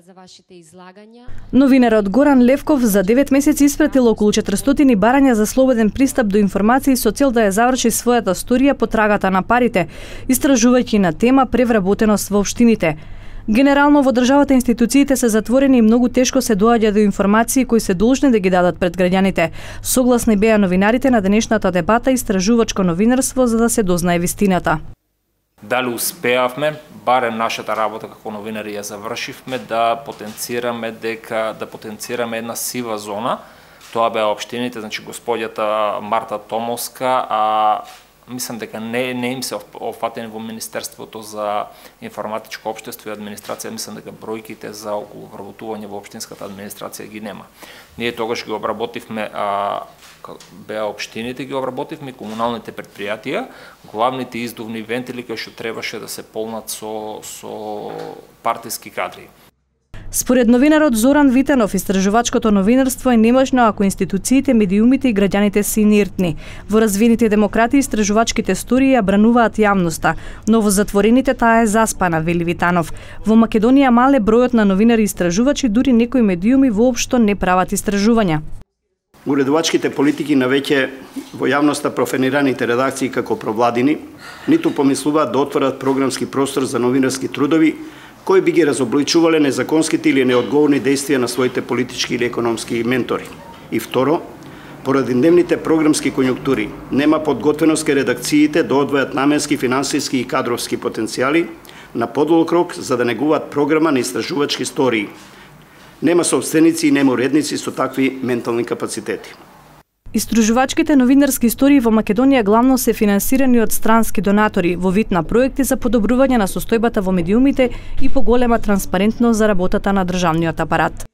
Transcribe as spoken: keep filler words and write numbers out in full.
за вашите излагања. Новинарот Горан Левков за девет месеци испратил околу четиристотини барања за слободен пристап до информации со цел да ја заврши својата сторија по трагата на парите, истражувајќи на тема превработеност во општините. Генерално во државата институциите се затворени и многу тешко се доаѓа до информации кои се должни да ги дадат пред граѓаните. Согласни беа новинарите на денешната дебата истражувачко новинарство за да се дознае вистината. Дали успеавме, барем нашата работа како новинари ја завршивме, да потенцираме дека да потенцираме една сива зона. Тоа беа општините, значи господјата Марта Томовска, а мислам дека не не им се опфатени во Министерството за информатичко општество и администрација, мислам дека бројките за околу вработување во општинската администрација ги нема. Ние тогаш ги обработивме а, беа општините, ги обработивме комуналните претпријатија, главните издувни вентили кои што требаше да се полнат со со партиски кадри. Според новинарот Зоран Витанов, истражувачкото новинарство е немажно ако институциите, медиумите и граѓаните се инертни. Во развиените демократи истражувачките стории ја брануваат јавноста, но во затворените таа е заспана, вели Витанов. Во Македонија мале бројот на новинари истражувачи, дури некои медиуми воопшто не прават истражувања. Уредувачките политики на веќе во јавноста профанираните редакции како провладини, ниту помислуваат да отворат програмски простор за новинарски трудови, кои би ги разобличувале незаконските или неодговорни действија на своите политички или економски ментори. И второ, поради дневните програмски конјунктури, нема подготвеност кај редакциите да одвојат наменски, финансиски и кадровски потенцијали на подолг рок за да негуваат програма на истражувачки стории. Нема собственици и нема уредници со такви ментални капацитети. Истражувачките новинарски истории во Македонија главно се финансирани од странски донатори во вид на проекти за подобрување на состојбата во медиумите и поголема транспарентност за работата на државниот апарат.